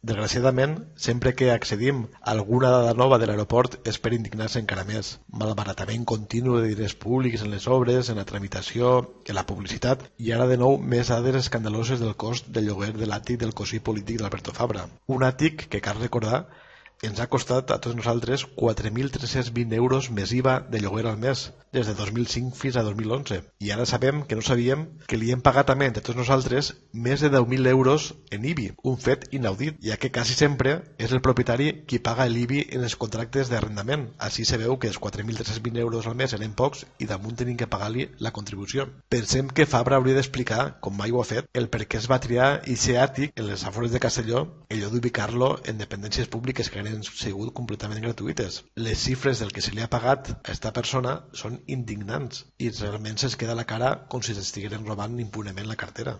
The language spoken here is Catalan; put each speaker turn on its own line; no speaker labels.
Desgraciadament, sempre que accedim a alguna dada nova de l'aeroport és per indignar-se encara més. Malbaratament continu de diners públics en les obres, en la tramitació, en la publicitat i ara de nou més dades escandaloses del cost del lloguer de l'àtic del cosí polític d'Alberto Fabra. Un àtic que cal recordar ens ha costat a tots nosaltres 4.320 euros més IVA de lloguer al mes, des de 2005 fins a 2011. I ara sabem que no sabíem que li hem pagat també entre tots nosaltres més de 10.000 euros en IBI, un fet inaudit, ja que quasi sempre és el propietari qui paga l'IBI en els contractes d'arrendament. Així se veu que els 4.320 euros al mes eren pocs i damunt tenim que pagar-li la contribució. Pensem que Fabra hauria d'explicar, com mai ho ha fet, el per què es va triar ixe àtic en les afores de Castelló en lloc d'ubicar-lo en dependències públiques que han sigut completament gratuïtes. Les xifres del que se li ha pagat a esta persona són indignants i realment se'ls queda la cara com si s'estigueren robant impunement la cartera.